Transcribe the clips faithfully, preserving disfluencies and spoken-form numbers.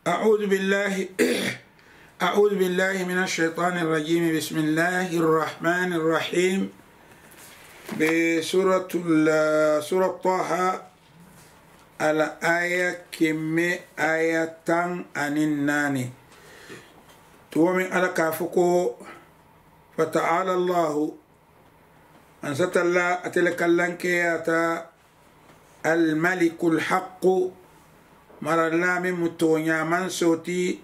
أعوذ بالله أعوذ بالله من الشيطان الرجيم. بسم الله الرحمن الرحيم. Be suratul sura taha, ala aya keme aya tan anin nani. Tuwo min ala ka fo ko فتعالى الله. Ansatalla atele kallankeya ta. Almalikul haqqu. Maralla min mu tooña mansoti.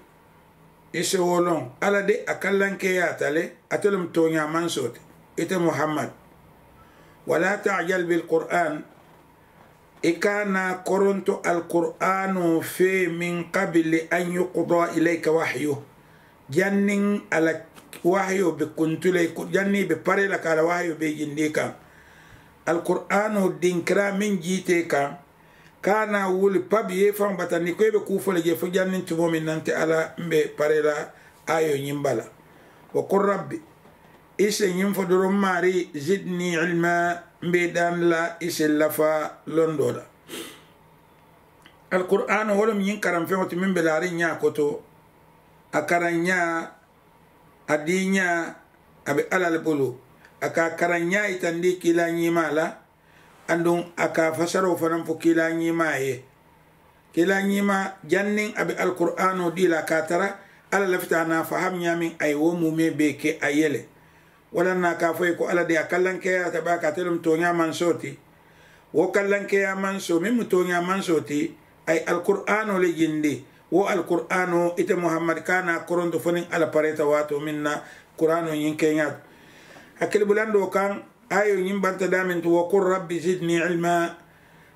Ise wolon ala de a kallankeya tale. Atele mu tooña mansoti. Ite muhammad. Wala tajal bil qur'an. I kana koronto alqur'ano fe min qabli an yuqda ilayka wahyu. Janniŋ a la wahayo be kuntu la i ko janniŋ i be paree la ka a la wahayo be jindi i kaŋ. Alkur'aanoo dinkira meŋ jiitee kaŋ ka a naa wuli pabi ye faŋ batandi ko i be kuu fo le jee fo janniŋ tumoo meŋ na nte alla mbe paree la aayoo ñiŋ bala. Wa kul rabbi, i se ñiŋ fo doroŋ maari zidni ilma, mbe daani la i se lafa londoo la. Alkur'aanoo wo le mu ñiŋ karaŋ feŋo ti meŋ be laariŋ ñaa koto. A karaŋ ñaa, a dii ñaa, a be alla le bulu. A ka a karaŋ ñaa yitandi kiilaa ñiimaa la. Aduŋ a ka a fasaroo fanaŋ fo kiilaa ñiimaa ye. Kiilaa ñiimaa janniŋ a be alkur'aanoo dii la a ka a tara alla lafita a naa faham ñaameŋ a ye wo muumee bee ke a ye le. Walla na a ka a fo i ye ko alla de a kallankeeyaata baake ate le mu tooñaa mansoo ti. Wo kallankeeyaa mansoo meŋ mu tooñaa mansoo ti, a ye alkur'aanoo le jindi. Wo alkur'aanoo ite muhammad ka a naa koronto fo niŋ alla pareeta waatoo meŋ na kuraanoo ñiŋ keeñaa to. Hakkili bulandoo kaŋ, aayoo ñiŋ banta daameŋ ti wa kul rabbi zidni ilma.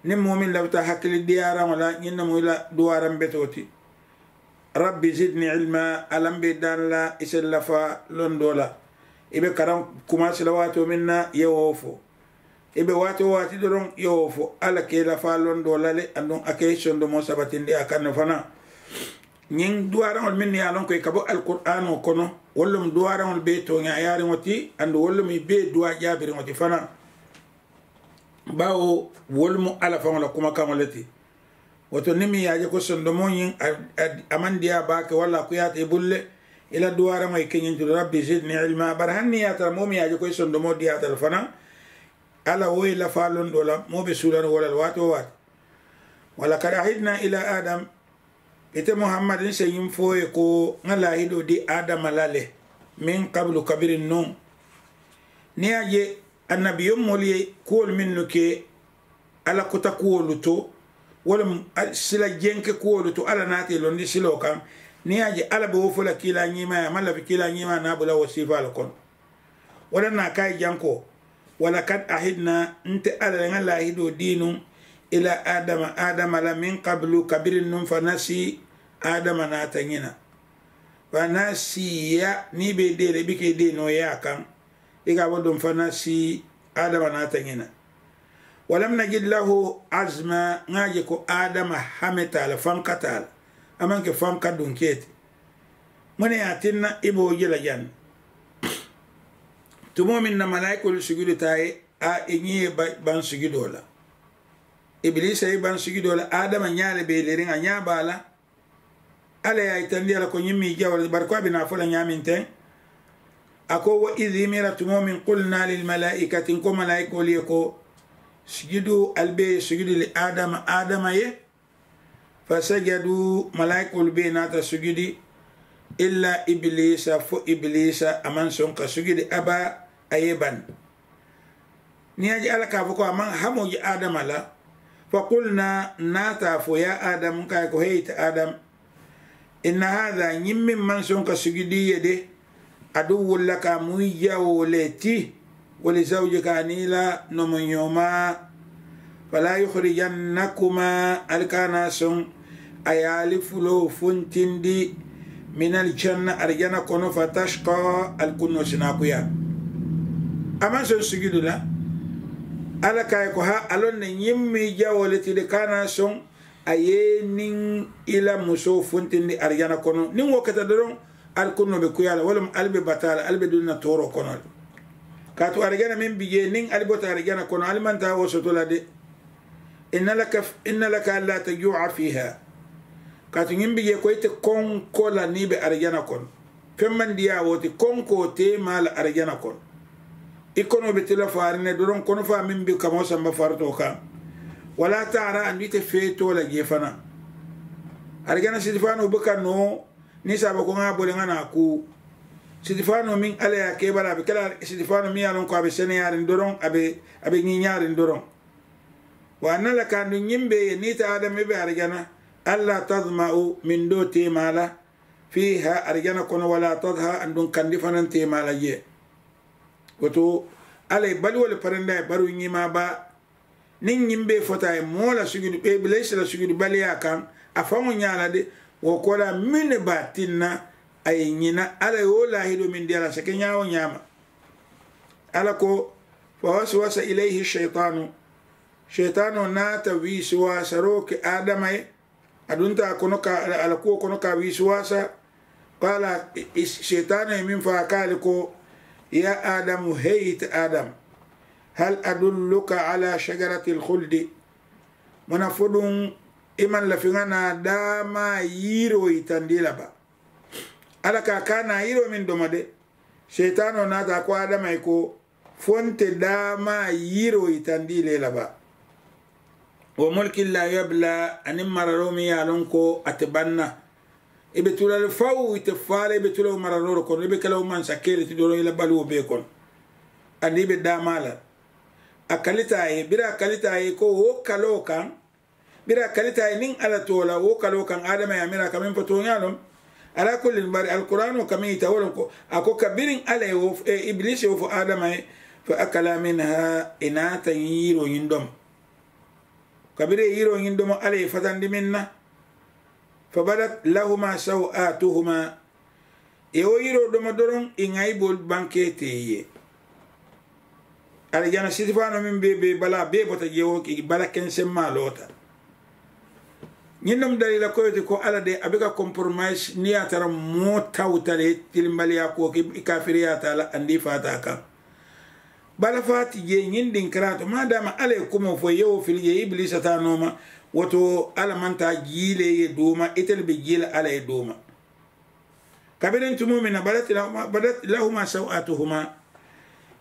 Niŋ moo meŋ lafita hakkili diyaaraŋo la ñiŋ ne mu i la duwaaraŋ betoo ti. Rabbi zidni ilma, alla mbe daani la i se lafa londoo la. I be karaŋ kumaasi la waatoo meŋ na i ye wo fo. I be waati wo waati doroŋ i ye wo fo alla ka i lafa londoo la le aduŋ a ka i sondomoo sabatindi a kaŋ ne fanaa. Ñiŋ duwaaraŋolu mennu ye a loŋ ko i ka bo alkur'aanoo kono wolu lemu duwaaraŋolu bee tooñaayaariŋo ti aduŋ wolu lemu i bee duwaa jaabiriŋo ti fanaa. Baawo wolu mu alla faŋo la kumakaŋo le ti. Wo to niŋ meŋ ye a je ko sondomoo ñiŋ a maŋ diyaa baake walla a kuyaata i bulu le. I la duwaaraŋo ye ke ñiŋ ti rabbi zidni ilma bari hani niŋ ye a tara moo meŋ ye a je ko i sondomoo diyaata le fanaa. Alla wo ye lafaa londoo la moo be suulariŋ wo la le waati wo waati. Walakad ahidna ila adam. Ite muhammad n se ñiŋ fo ye ko ŋa laahidoo di adama la le. Min kabulu kabiriŋ nuŋ. Niŋ ye a je annabiyomoolu ye kuwolu mennu ke alla kuta kuwolu to, wo le mu sila jenke kuwolu to alla naata i londi siloo kaŋ. Niŋ ye a je alla be wo fo la kiilaa ñiimaa ye a maŋ lafi kiilaa ñiimaa naa bula wo siifaalu kono. Wo le na a ka a ye jaŋ ko walakad ahidna, nte alla le ŋa laahidoo dii nuŋ ila adama adama la min kabulu kabiriŋ nuŋ fa nasi. Adama naata ñina. Fa nasiya niŋ i be i dee la i bi ka i dee nooyaa kaŋ. I ka a bo duŋ fa nasi. Adama naata ñina. Walam najid lahu azma, ŋa a je ko adama hame taa la fanka taa la. A maŋ ke fanka dunkee ti. Muŋ ne ye a tinna i be wo je la jaŋ ne? Tumoo meŋ na malaayikoolu sujudita a ye a i ñiŋ ye baŋ sujudoo la. Ibiliisa ye baŋ sujudoo la adama ñaa le be i leriŋ a ñaa be a la. Alla ye a yitandi a la ko ñiŋ mu i jawoo le ti bari ko a be naa fo la ñaameŋ teŋ. A ko wa izi mira tumoo meŋ kulna lil malaayikati n ko malaayikoolu ye ko sujudu ali be ye sujudi li adama adama ye. Fasajadu malaayikoolu bee naata sujudi. Illa ibiliisa fo ibiliisa a maŋ soŋ ka sujudi a baa a ye bani. Niŋ ye a je alla ka a fo ko a maŋ hamoo je adama la. Fakulna naata a fo ya adamu ka a ye ko hee ite adamu. Inna haada ñiŋ meŋ maŋ soŋ ka sujudi ye de. Aduwwun laka a mu i jawoo le ti. Wali zawjika aniŋ i la nomoñoomaa. Falaa yuxrijannakuma ali ka a naa soŋ a ye ali fuloo funtindi. Minal janna arijana kono fa tashka ali kunnoo si naa kuyaa. A maŋ soŋ sujudu la. Alla ka a ye ko haa a loŋ ne ñiŋ mu i jawoo le ti de ka a naa soŋ a ye i niŋ i la musoo funtindi arijana kono niŋ wo keta doroŋ. Ali kunnoo be kuyaa la wo le mu ali be bataa la ali be duŋ na tooroo kono le. Kaatu arijana meŋ bi jee niŋ ali bota arijana kono ali maŋ taa wo soto la de. Inna laka alla tajua fiiha. Kaatu ñiŋ bi jee ko ite konkoo la niŋ i be arijana kono, feŋ maŋ diyaa wo ti konkoo teemaa la arijana kono. I konoo be tila faariŋ ne doroŋ konofaa meŋ be kamoo samba faritoo kaŋ. Walaa taara aduŋ ite feetoo la jee fanaa. Arijana sitifaanoo buka noo niŋ saaba ko ŋa a bole ŋa naa kuu. Sitifaanoo meŋ alla ye a ke i bala a be ke la sitifaanoo meŋ ye a loŋ ko a be seneyaariŋ doroŋ a be a be ñiiñaariŋ doroŋ. Wa a na la kaŋ duŋ ñiŋ bee ye niŋ ite adama i be arijana. Alla tadma'u mindoo teemaa la. Fiiha arijana kono wala tadha aduŋ kandi fanaŋ teemaa la jee. Wo to alla ye baluwo le parendaa ye baruŋ ñimaa baa. Niŋ ñiŋ bee fota a ye moo la sujudu ibilisi la sujudu baliyaa kaŋ a faŋo ñaa la de. Wo koolaa meŋ ne be a tinna a ye ñina alla ye wo laahidoo meŋ dii a la a si ke ñaa wo ñaama. Alla ko, fa waswasa ilayhi sheyitaanu. Sheyitaanoo naata wiisiwaasaroo ke adama ye. A dunta a kono ka a la kuwo kono ka a wiisiwaasa. Qaala, seyitaanoo ye meŋ fo a ka a le ko, yaa adamu, heyi ite adamu, hal adulluka ala shajarati alkhuldi? Muna fo duŋ i maŋ lafi ŋa naa daamaa yiiroo yitandi i la ba? Alla ka a ka naa yiiroo meŋ domo de. Seyitaanoo naata a ko adama ye ko, fo nte daamaa yiiroo yitandi i le la ba? Wa mulkin la yabla, aniŋ mararoo meŋ ye a loŋ ko a te baŋ na. I be tula le faw ite faa la i be tula wo mararoo le kono i be ke la wo mansa kee le ti doroŋ i la baluwo bee kono. Aniŋ i be daamaa la. A kalita a ye biriŋ a kalita a ye ko wo kaloo kaŋ. Biriŋ a kalita a ye niŋ alla too la wo kaloo kaŋ adama ye a mira a ka meŋ fo tooñaa loŋ. Alaa kullin bari alkuraanoo ka meŋ yita wo loŋ ko a ko kabiriŋ alla ye wo ibilisi ye wo fo adama ye. Fa akala minha i naata ñiŋ yiroo ñiŋ domo. Kabiriŋ ye yiroo ñiŋ domo alla ye fatandi meŋ na. Fa badat lahuma saw'atuhuma. I ye wo yiroo domo doroŋ i ŋayiboolu bankee te i ye. Arijana sitifaanoo meŋ be be i bala a bee bota jee wo i bala kenseŋ maa loota. Ñiŋ noŋ daliila koyo ti ko alla de a be ka komporomayisi niŋ ye a tara moo tawuta le tilimbaliyaa kuwo ke i kaafiriyaata a la aniŋ i faata a kaŋ. Bala faa ti jee ñiŋ dinkiraa to maadaama alla ye kumoo fo i ye wo fili jee ibilisa taa nooma. Wo to alla maŋ taa jii le ye duuma ite le be jii la alla ye duuma. Kabiriŋ tumoo meŋ na badat lahuma saw'atuhuma.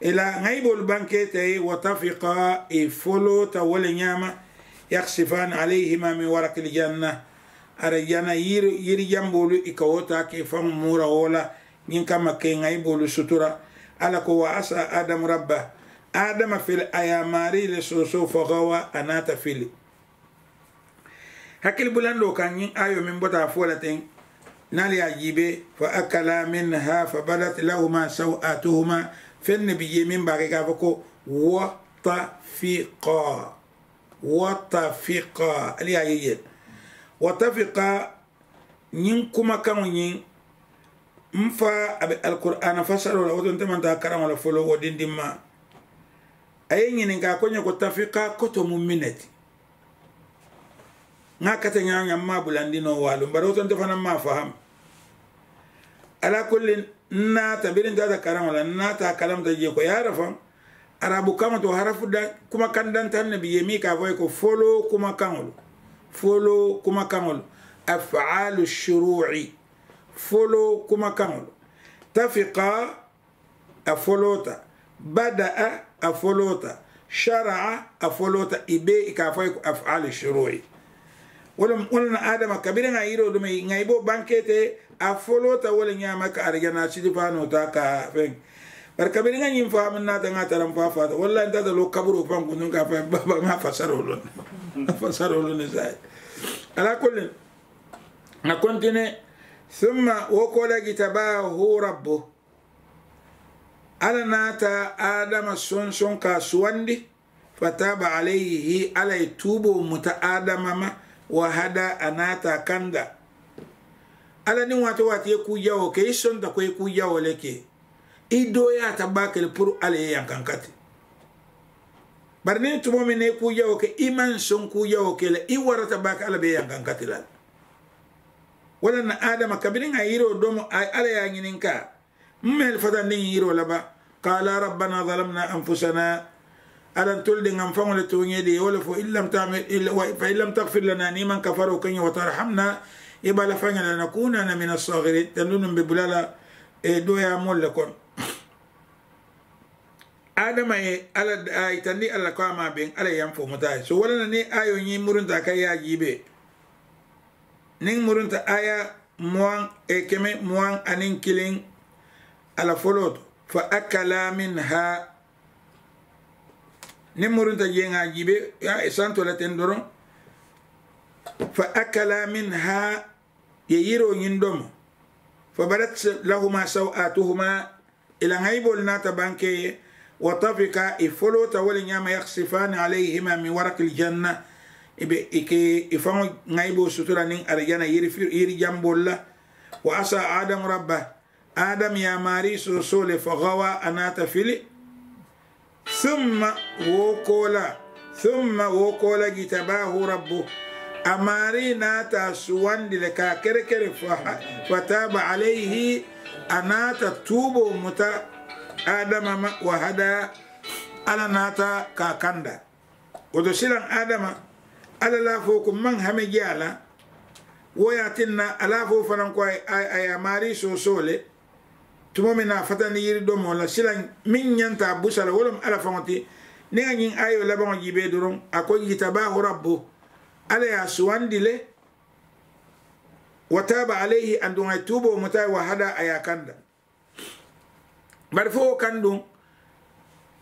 I la ŋayiboolu bankee te ye wa tafiqa i foloota wo le ñaama. Yaksifani alayhima min warakil janna. Arijana yiri jamboolu i ka wo taa ke i faŋo muura wo la. Ñiŋ kamma ke ŋayiboolu sutura. Alla ko wa asa adamu rabba. Adama fili a ye a maarii le soosoo fo gawa a naata fili. Hakkili bulandoo kaŋ ñiŋ aayoo meŋ bota a fo la teŋ. Niŋ ali ye a jiibee fa akala minha fa badat lahuma saw'atuhuma. Feŋ ne bi jee meŋ be a ke ka a fo ko watafiqa. Watafiqa ali ye a ye jee. Watafiqa. Ñiŋ kumakaŋo ñiŋ m faa a be alkuraana fasaroo la wo to nte maŋ taa karaŋo la foloo wo dindimmaa. A ye ñininkaa ko ñe ko tafikaa koto mu mine ti? Ŋa a kata ñaaña m maa bulandi noo waalu bari wo to nte fanaŋ maa faham. Alaa kulli n naata biriŋ taata karaŋo la n naata a kalamuta jee ko yaara faŋ. Arabu kaŋo to harafu da kumakaŋ dantaŋ ne bi jee miŋ ka a fo ye ko foloo kumakaŋolu. Foloo kumakaŋolu. Afaalu shuruu'i. Foloo kumakaŋolu. Tafiqa. A foloota. Bada'a. A foloota. Shara'a. A foloota i bee i ka a fo ye ko afaalu shuruu'i. Wo le mu wo le na adama kabiriŋ a yiroo duma ŋa i be wo bankee te. A foloota wo le ñaama ka arijanaa sitifaanoo taa ka a feŋ. Bari kabiriŋ ŋa ñiŋ faamu n naata ŋa a tara m faa faata wallaahi n taata loo kaburoo faŋ kuntuŋ ka a fo a ye baaba ŋa a fasaroo loŋ ne. A fasaroo loŋ ne saayiŋ. Alaa kulli. Ŋa kontine. Summa wo koolaa jitabahu rabbu. Alla naata adama sonsoŋ ka a suwandi. Fataaba alayhi alla ye tuuboo muta adama ma. Wa hadaa a naata a kanda. Alla niŋ waati waati ye kuu jawoo ke i sonta ko i kuu jawoo le ke. I dooyaata baake le puru alla ye yankankati. Bari niŋ tumoo meŋ ne i kuu jawoo ke i maŋ soŋ kuu jawoo ke la i warata baake alla be yankankati la. Walla na adama kabiriŋ a yiroo domo a ye alla ye a ñininkaa. Mma ye le fatandiŋ yiroo la ba? Qaala rabbana zalamna anfusana. Alla ntolu de ŋa mfaŋo le tooñee de ye wo le fo fa in lam tagfir lana niŋ i maŋ kafaroo ke ñe wa tarhamna. Ye bala faŋ ye la nakuna na mina sogiri tandunu mbe bulala. Doya moolu le kono. Adama ye ala a yitandi alla ko a ma beŋ alla ye yaŋ fo muta ye so walla na ni ayo ñiŋ murunta ka ye a jiibe. Niŋ murunta aya muwaŋ e keme muwaŋ aniŋ kiliŋ. Alla foloo to fa akala minha. Niŋ murunta jeŋa jiibe ya e santo la ten doroŋ. Fa akala minha. Ye yiroo ñiŋ domo. Fa badat lahuma saw'atuhuma. I la ŋayiboolu naata banke ye. Wa tafika i foloota wo le ñaama yaksifani alayhima min waraki aljanna. I be i ke i faŋo ŋayiboo sutura niŋ arijana yiri jamboolu la. Wa asa adamu rabba. Adamu ye a maarii soosoo le fo gawa a naata fili. Summa wo koola summa wo koola jitabahu rabbu. A maarii naata a suwandi le ka a kerekere. Fa taaba alayhi. A naata tuuboo muta. Adama ma wa hada. Alla naata ka a kanda. Wo to silaŋ adama alla laafoo ko maŋ hame je a la. Wo ye a tinna a laafoo fanaŋ ko a ye a maarii soosoo le. Tumoo meŋ na a fatandi yiri domoo la silaŋ meŋ ñanta a busa la wo le mu alla faŋo ti. Niŋ a ñiŋ aayoo labaŋo jiibee doroŋ a ko jitabahu rabbu. Alla ye a suwandi le. Wa taaba alayhi aduŋ a ye tuuboo muta a ye wa hada a ye a kanda. Bari fo wo kaŋ duŋ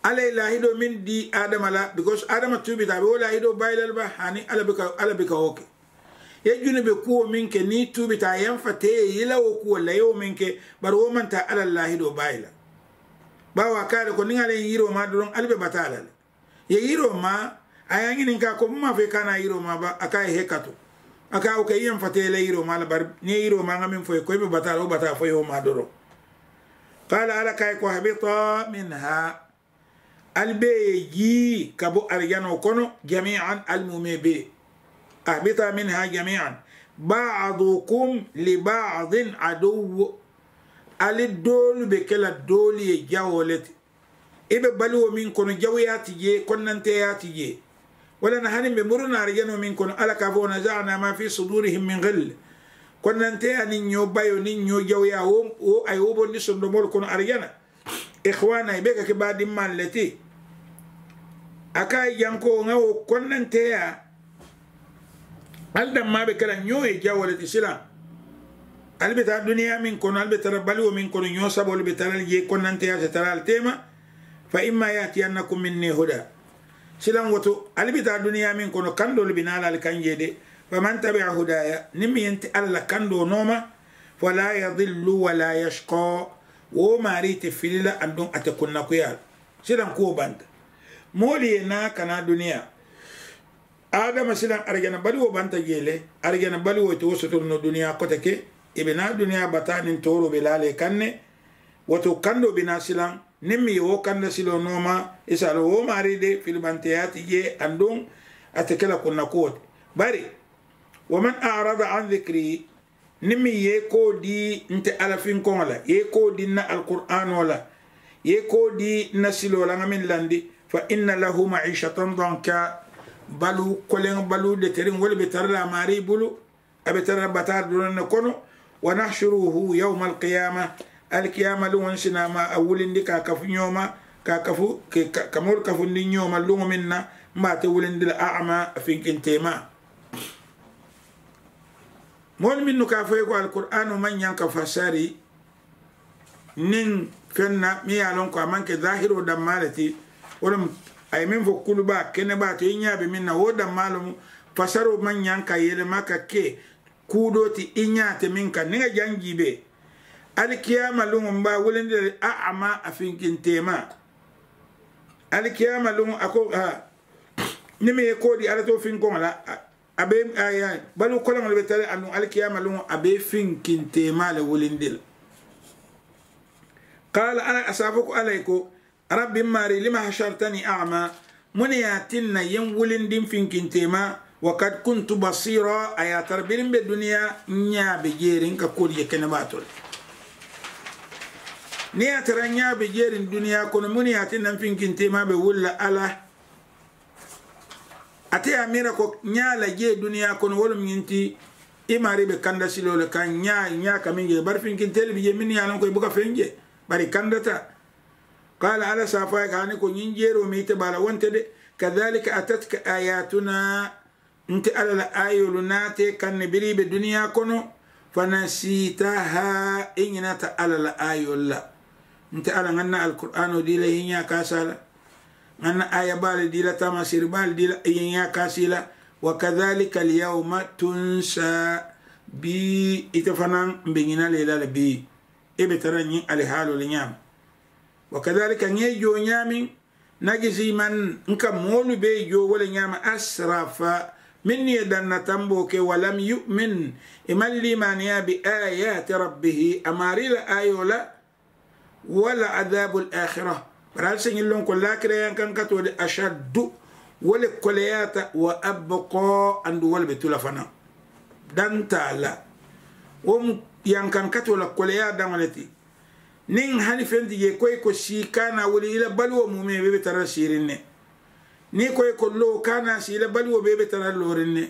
alla ye laahidoo meŋ dii adama la because adama tuubita a be wo laahidoo baayi la le ba hani alla be ka wo ke. Ye junube kuwo meŋ ke niŋ i tuubita a ye n fa te ye i la wo kuwo la ye wo meŋ ke. Bari wo maŋ taa alla la laahidoo baayi la. Baawo a ka a le ko niŋ alla ye n yiroo maa doroŋ ali be bataa la le. Ye yiroo maa a ye a ñininkaa ko muŋ maa fo i ka a naa yiroo maa ba a ka a ye hekatu. A ka a wo ke i ye n fa te ye la yiroo maa la bari niŋ ye yiroo maa ŋa meŋ fo i ye ko i be bataa la wo bataa fo i ye wo maa doroŋ. Qaala alla ka a ye ko habita minha. Ali bee ye jii ka bo arijanoo kono jamian ali muumee bee. Habita minha jamian. Baadukum li baadin aduwu. Ali doolu be ke la doolu ye jawoo le ti. I be baluwo meŋ kono jawuyaa ti jee konnanteeyaa ti jee. Walla na hani mbe muruna arijanoo meŋ kono alla ka a fo wa nazana ma fi sudurihim min gilli. Konnanteeyaa niŋ ñoo bayoo niŋ ñoo jawuyaa wo a ye wo bondi sondomoolu kono arijana. Ixwaana i be ka ke baadimmaalu le ti. A ka a ye jaŋ ko ŋa wo konnanteeyaa. Ali dammaa be ke la ñoo ye jawoo le ti silaŋ. Ali be taa duniyaa meŋ kono ali be tara baluwo meŋ kono ñoo saboolu be tara le jee konnanteeyaa te tara ali teema. Fa imma yatiyannakum minni huda. Silaŋ wo to ali be taa duniyaa meŋ kono kandoolu bi naa la ali kaŋ jee de. Fa man tabia hudaya niŋ meŋ ye nte alla la kandoo nooma. Fala yadillu wala yashqa. Wo maarii te fili la aduŋ a te kunnakuyaa la. Silaŋ kuwo banta. Moolu ye naa ka naa duniyaa. Adama silaŋ arijana baluwo banta jee le. Arijana baluwo ite wo sotoru noo duniyaa kote ke. I be naa duniyaa bataa niŋ tooroo be laa le kaŋ ne. Wo to kandoo be naa silaŋ niŋ meŋ ye wo kanda siloo nooma. I se a loŋ wo maarii de filibanteeyaa ti jee aduŋ a te ke la kunna kuwo ti. Bari wa man arada an dikiri. Niŋ meŋ ye i koo dii nte alla finkoŋo la ye i koo dii n na alkuraanoo la ye i koo dii n na siloo la ŋa meŋ landi. Fa inna lahu maisatan donka. Baluu koleŋ baluu deteriŋ wo le be tara la a maarii bulu. A be tara la bataari doroŋ ne kono. Wa nahsuruhu yawma alkiyama. Alkiyama luŋo n si naa ma a wulindi ka a kafu ñooma ka a kafu ka moolu kafundi ñooma luŋo meŋ na. M be a te wulindi la ama a finkinteemaa. Moolu mennu ka a fo i ye ko alkuraanoo maŋ ñaŋ ka fasari niŋ feŋ na meŋ ye a loŋ ko a maŋ ke zahiroo dammaa le ti. Wo le mu a ye meŋ fo kulubaa kenebaa to i ñaa be meŋ na wo dammaa loŋ. Fasaroo maŋ ñaŋ ka yelema ka ke kuu doo ti i ñaa te meŋ kaŋ niŋ a jaŋ jiibee. Alikiyaama luŋo m be a wulindi la le a ama a finkinteemaa. Alikiyaama luŋo a ko haa niŋ meŋ ye koo dii alla too finkoŋo la a be baluu koloŋo le be tara aduŋ alikiyaama luŋo a be i finkinteemaa le wulindi la. Qaala alla a si a fo ko alla ye ko rabbi m maarii lima hasartani ama. Muŋ ne ye a tinna ye m wulindi m finkinteemaa wa kad kuntu basiira a ye a tara biriŋ be duniyaa n ñaa be jeeriŋ ka kuwo dii je kene baa to le. Niŋ ye a tara n ñaa be jeeriŋ duniyaa kono muŋ ne ye a tinna m finkinteemaa be wuli la alla. Ate ye a miira ko ñaa la jee duniyaa kono wo le mu ñiŋ ti. I maarii be kanda siloo le kaŋ ñaa ñaa ka meŋ je bari finkinteelu bi jee mennu ye a loŋ ko i buka feŋ je bari i kandata. Qaala alla si a fo a ye ka hani ko ñiŋ jeeroo meŋ ite baa la wo nte de. Kadalika atatka ayaatuna. Nte alla la aayoolu naata i kaŋ ne biriŋ i be duniyaa kono. Fanasiitaha i ñinata alla la aayoolu la. Nte alla ŋa n na alkuraanoo dii la i ye ñaa kaasi a la. Ŋa n na aaya baalu dii la taamaseeri baalu dii la i ye ñaa kaasi i la. Wa kadalika alyawma tunsa. Bii ite fanaa mbe ñina la i la le bii. I be tara ñiŋ alihaaloo le ñaama. Wa kadalika ŋa i joo ñaameŋ. Najisi man n ka moolu bee joo wo le ñaama asrafa mennu ye danna tamboo ke walam yumin i maŋ liimaaniyaa bi aayaati rabbihi a maarii la aayoo la. Wala adaabu alaakhira. Bari ali si ñiŋ loŋ ko laakira yankankatoo de ashaddu wo le koleyaata wa abqa andu wo le be tu la fanaŋ. Dantaa la wo mu yankankatoo la koleyaa daŋo le ti. Niŋ hani feŋ ti jee ko i ko sii kaana wuli i la baluwo muumee bee be tara la siiriŋ ne. Niŋ i ko i ko loo kaana sii i la baluwo bee be tara la looriŋ ne.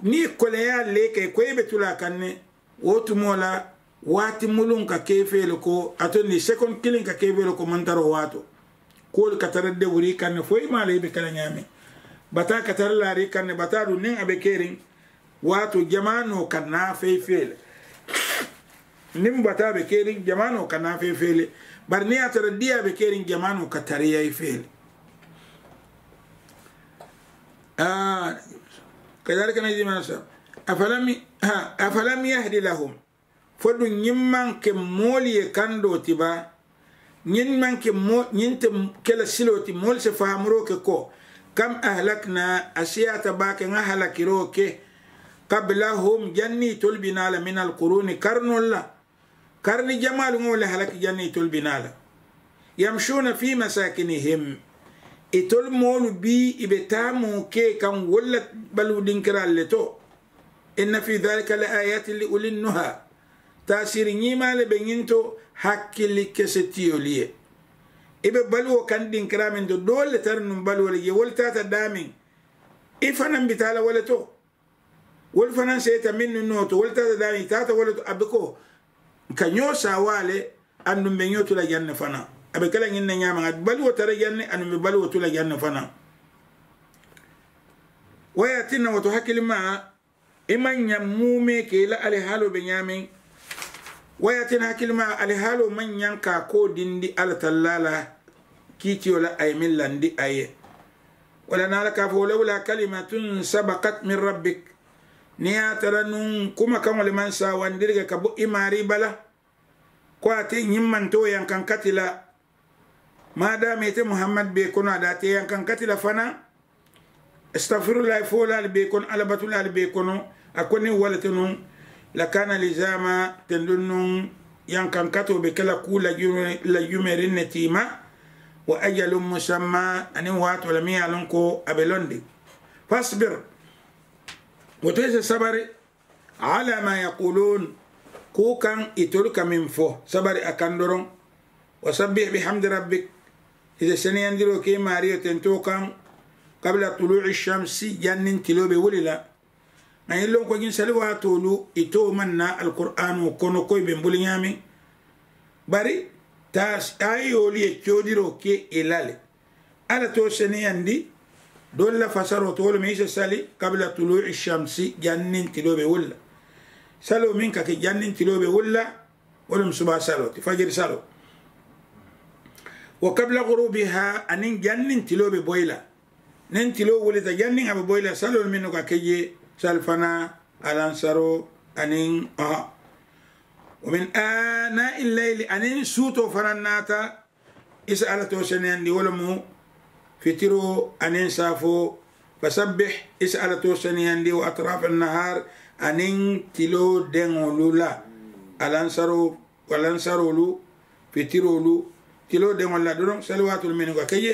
Niŋ i koleyaa lee ka i ko i be tulaa kaŋ ne. Wo tumoo la waati muluŋ ka ke i fee le ko a to niŋ sekondi kiliŋ ka ke i fee le ko mantaroo waatoo. Kuwolu ka tara dewuri i kaŋ ne fo i maŋ a la i be ke la ñaameŋ. Bataa ka tara laari i kaŋ ne bataa duŋ niŋ a be keriŋ. Waatoo jamaanoo ka naafa i fee le. Niŋ bataa be keriŋ jamaanoo ka naafa i fee le. Bari niŋ ye a tara diyaa be keriŋ jamaanoo ka tariyaa i fee le. Kadalika najzi man nasha. Afalam yahdi lahum. Fo duŋ ñiŋ maŋ ke moolu ye kandoo ti baa. Ñiŋ maŋ ke moo ñiŋ te ke la siloo ti moolu si fahamuroo ke ko kam ahlakna a siyaata baake ŋa halakiroo ke. Qablahum janniŋ itolu bi naa la min alkuruuni karinoolu la. Karni jamaalu ŋa wo le halaki janniŋ itolu bi naa la. Yamsuuna fii masaakinihim. Itolu moolu bii i be taamoo ke kaŋ wolu la baluu dinkiraalu le to. Inna fii daalika la aayaatin li ulin nuha. Taasiri ñiimaa le be ñiŋ to hakkili kese tiyolu ye. I be baluwo kaŋ dinkiraa meŋ to doolu le tara nuŋ baluwo le je wolu taata daameŋ. I fanaŋ bi taa la wo le to. Wolu fanaŋ seeta meŋ nuŋ noo to wolu taata daameŋ i taata wo le to a be ko ka ñoo saawaa le. Aduŋ be ñoo tu la jaŋ ne fanaŋ. A be ke la ñiŋ ne ñaamaŋ a be baluwo tara jaŋ ne aduŋ be baluwo tu la jaŋ ne fanaŋ. Wo ye a tinna wo to hakkilimaa i maŋ ñaŋ muumee ke i la alihaaloo be ñaameŋ. Wo ye a tinna hakkilimaa alihaaloo maŋ ñaŋ ka a koo dindi alla tallaa la. Kiitiyo la a ye meŋ landi a ye. Walla naa la ka a fo lawlaa kalimatun sabakat min rabbik. Niŋ ye a tara nuŋ kumakaŋo le maŋ saawandiri ke ka bo i maarii bala. Ko a te ñiŋ maŋ too yankaŋ kati la. Maadaama ite muhammad be kono a daate yankaŋ kati la fanaŋ. Astagfirullahi foolaalu be kono alla batulaalu be kono. A ko niŋ wo le te nuŋ lakaana lizaama tenduŋ nuŋ yankaŋ katoo be ke la kuu la jumeriŋ ne tiima. Wa ajalun musamma aniŋ waatoo la miŋ ye a loŋ ko a be londi. Fasbir. Wo to i si sabari. Ala ma yaquluun. Kuu kaŋ itolu ka meŋ fo sabari a kaŋ doroŋ. Wa sabbih bihamdi rabbik. I si seneyandiroo ke i maariyo tentoo kaŋ. Kabila tuluuci shamsi janniŋ tiloo be wuli la. Ŋa ñiŋ loŋ ko ñiŋ sali waatoolu itoo maŋ naa alkuraanoo kono ko i be mbuli ñaameŋ. Bari taasi aayoolu ye coodiroo ke i la le. Alla to seneyandi doolu la fasaroo to wo le mu i si sali kabila tuluuci shamsi janniŋ tiloo be wuli la. Saloo meŋ ka ke janniŋ tiloo be wuli la. Wo le mu subaa saloo ti fajiri saloo. Wo kabila guruubiha aniŋ janniŋ tiloo be boyi la. Niŋ tiloo wulita janniŋ a be boyi la saloolu mennu ka ke jee sali fanaa alansaroo aniŋ aha. Wo min aanaa illayli aniŋ suutoo fanaŋ naata. I si alla too seneyandi wo le mu fitiroo aniŋ saafoo. Fasabbih i si alla too seneyandi wo atraafa annahaar aniŋ tiloo deŋolu la. Alansaroo walansaroolu fitiroolu tiloo deŋolu la doroŋ sali waatoolu mennu ka ke je.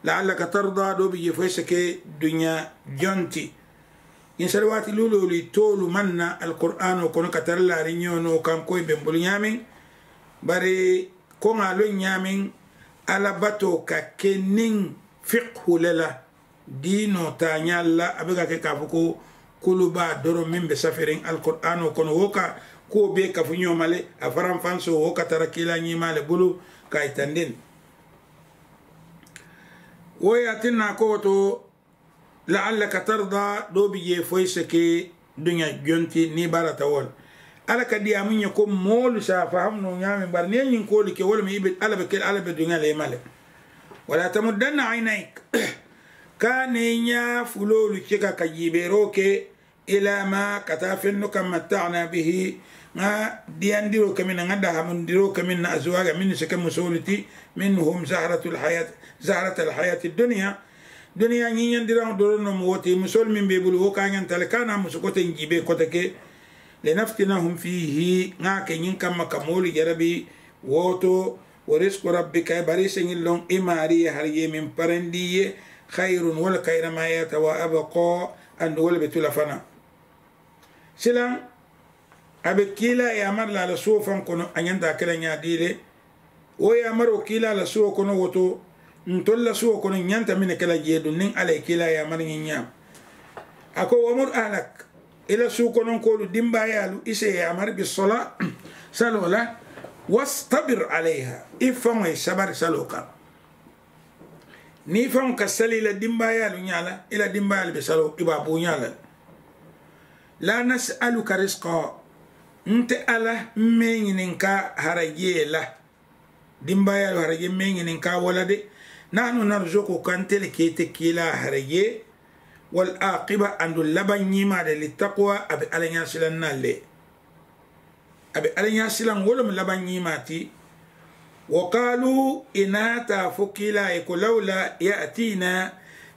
Laallaka tarda doo bi je fo i si ke duñaa jonti. Ñiŋ sali waati luuloolu i toolu maŋ na alkuraanoo kono ka tara laariñoo noo kaŋ ko i be mbulu ñaameŋ. Bari koŋ a loŋ ñaameŋ alla batoo ka ke niŋ fikihu le la. Diinoo taañaalu la a be ka ke ka a fo ko kulu baa doroŋ meŋ be safiriŋ alkuraanoo kono wo ka kuwo bee kafu ñooma le. A faranfansoo wo ka tara kiilaa ñiimaa le bulu ka a yitandi. Wo ye a tinna a ko wo to, la'allaka tarda doo bi jee fo i si ke duña jonti niŋ i barata wo le. Alla ka diyaamu ñe ko moolu si a fahamu noo ñaameŋ bari niŋ i ye ñiŋ koolu ke wo le mu i be alla be ke alla be duña le i ma le. Wala tamuddanna aynayk, ka ne i ñaa fuloolu cika ka jiibeeroo ke, ila ma ka taa fennu ka matta'na bihi, ŋa diyandiroo ke meŋ na ŋa dahamundiroo ke meŋ na azuwaja mennu si ke musoolu ti, minhum zahratul hayat zahratal hayati duniya. Duniyaa ñiiñandiraŋo doroŋ noŋ mu wo ti musoolu meŋ be i bulu wo ka a ñanta le ka a naa musu koteŋ jiibee kote ke. Linaftinahum fiihi, ŋa a ke ñiŋ kamma ka moolu jarabi wo to. Wa risku rabbika bari i si ñiŋ loŋ i maarii ye hari ye meŋ parendi i ye, khayrun wo le kayiramaa yaata wa abqa, aduŋ wo le be tu la fanaa. Silaŋ a be kiilaa yaamari la a la suwo faŋ kono a ñanta a ke la ñaadii le. Wo yaamaroo kiilaa la suwo kono wo to ntolu la suwo kono ñanta meŋ ne ke la jee duŋ niŋ alla ye kiilaa yaamari ñiŋ ñaama. A ko wamur ahlak, i la suu kononkoolu dimbaayaalu i si i yaamari bi sola saloo la. Wastabir alayha, i faŋo ye sabari saloo kaŋ. Niŋ i faŋo ka sali i la dimbaayaalu ñaa la i la dimbaayaalu be saloo i be a buuñaa la. La nas'aluka risqa, nte alla mmeeñininka harajee la. Dimbaayaalu harajee mmeeñininka wo la de. Nahnu narzuquka nte le ka ite kiilaa harajee. Wal aqiba andu labaŋ ñiimaa de li taqwa a be alla ñaasilaŋ naa le. A be alla ñaasilaŋ wo le mu labaŋ ñiimaa ti. Wa qaalu i naata a fo kiilaa ye ko lawla ya'tiina,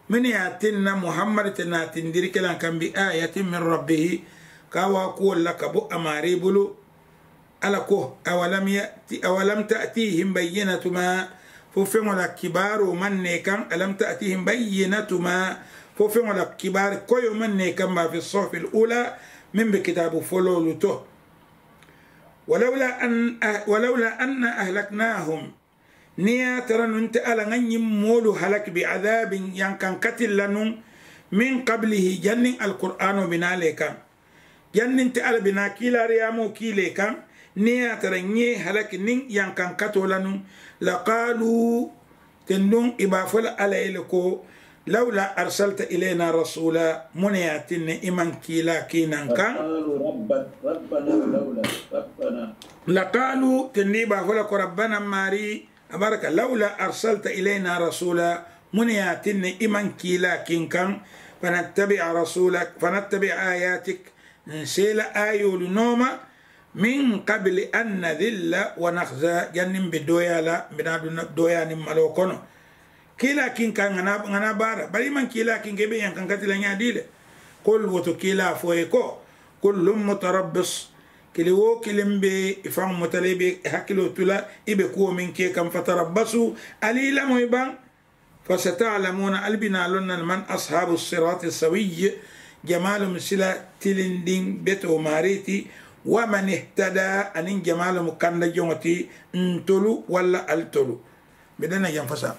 mennu ye a tinna muhammadu te naatindiri ke la n kaŋ bi ayatin min rabbihi, ka a waa kuwolu la ka bo a maarii bulu. Alla ko awalam ta'tiihim bayyinatu ma, fo feŋo la kibaaroo maŋ ne i kaŋ alam ta'tiihim bayyinatu ma, fo feŋo la kibaari koyoo maŋ ne i kaŋ ma fi suhufi l ula, meŋ be kitaabu foloolu to. Walawla anna ahlaknaahum, niŋ ye a tara nuŋ nte alla ŋa ñiŋ moolu halaki bi adaabin yankaŋ katili la nuŋ, min kabilihi janniŋ alkuraanoo bi naa le kaŋ. Janniŋ nte alla bi naa kiilaariyaamoo kii le kaŋ, niŋ ye a tara ñee halaki niŋ yankaŋ katoo la nuŋ. Lakaaluu, tenduŋ i be a fo la alla ye le ko, lawla arsalta ilayna rasuula, muŋ ne ye a tinne i maŋ kiilaa kii naŋ kaŋ? Lakaaluu, tenduŋ i be a fo la ko rabbana maarii, a baraka lawla arsalta ilayna rasuula, muŋ ne ye a tinne i maŋ kiilaa kii n kaŋ? Fanattabi'a rasuula fanattabi'a aayaatik, n si i la aayoolu nooma, min kabili an nadilla wa naxza, janniŋ mbe dooyaa la mbe naa duna dooyaa niŋ maloo kono. Kiilaa kinkaa ŋa naa baara bari i maŋ kiilaa kinka i be yankankati la ñaadii le. Kul woto kiilaa fo i ye ko, kullum mutarabbis, kili woo kiliŋ be i faŋ muta la i be i hakiloo tu la, i be kuwo meŋ ke kaŋ fatarabbasu, ali i lamoyi baŋ. Fasata'lamuuna, ali bi naa loŋ na le man ashaabu siraati sawiyi, jamaalu mu sila tilindiŋ betoo maarii ti, wa man ihtadaa, aniŋ jamaalu mu kanda joŋo ti, ntolu walla ali tolu. Mbe dana jaŋ fasaa.